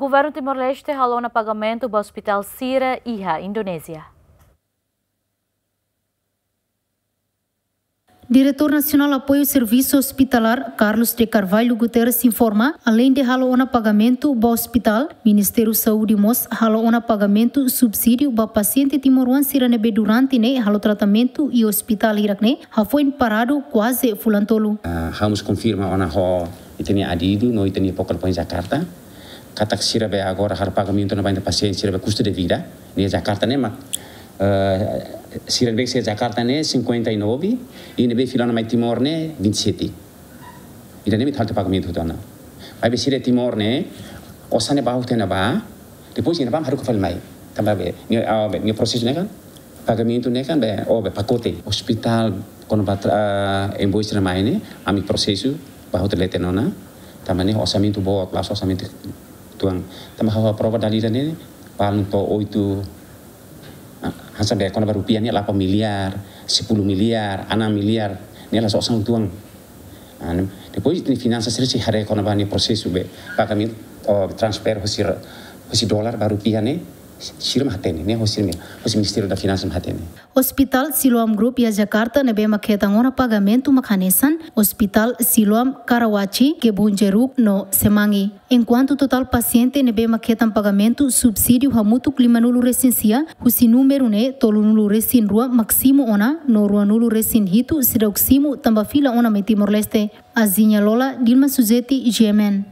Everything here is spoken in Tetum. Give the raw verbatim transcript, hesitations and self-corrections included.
Governu Timor-Leste halo ona pagamentu ba ospitál sira iha Indonézia. Diretór Nasionál Apoiu Servisu Ospitalár, Carlos de Carvalho Guterres, informa, aleinde halo ona pagamentu ba ospitál, Ministériu Saúde mós halo ona pagamentu subsídiu ba pasiente timoroan sira ne'ebé durante ne'e halo tratamentu iha ospitál hirak-ne'e hafoin paradu kuaze fulan tolu. Ah, ha'u mós konfirma ona ho ita-nia adidu no ita-nia pokol poin Jakarta. Katak sira be agora halo pagamentu ona ba pasiente sira be kustu de vida. Ne'e Jakarta ne'e mak, eh, sira be sira Jakarta ne'e cinquenta e nove, i ne'ebé fila ona mai Timor ne'e vinte e sete. Ida-ne'e mak halo pagamentu hotu ona. Maibé sira Timor ne'e, osan ne'e ba hotu ona ba, depois ida-ne'ebá haruka fali mai. Tanba be, ne'e, ah, be, ne'e prosesu ne'e kan, pagamentu ne'e kan be, oh, be pakote. Ospitál, kona-ba tra-, ah, invoice ne'e mai ne'e, ami prosesu ba hotu leten ona. Tanba ne'e orsamentu boot, la'ós orsamentu tuan. Tanba ha'u aprova dala ida ne'e, balun to'o oitu, ah, hanesan be kona-ba rupiah ne'e delapan miliar, sepuluh miliar, enam miliar, ne'e la'ós osan tuan. Ah, ne'e, depois ita-nia finansa sira sei haree kona-ba ne'e prosesu be pagamentu, oh, transfer husi ra-, husi dolar ba rupiah ne'e, sira mak hatene, ne'e husi ne'e, husi Ministériu da Finansa mak hatene. Ospitál Siloam Group iha Jakarta ne'ebé mak hetan ona pagamentu mak hanesan Ospitál Siloam Karawaci, Kebun Jeruk no Semanggi. Enkuantu totál pasiente ne'ebé mak hetan pagamentu subsídiu hamutuk limanulu-resin-sia, husi númeru ne'e tolunulu-resin-rua mak simu ona, no ruanulu-resin-hitu seidauk simu tanba fila ona mai Timor-Leste. Azinha Lola, Dilma Suzeti, G M N.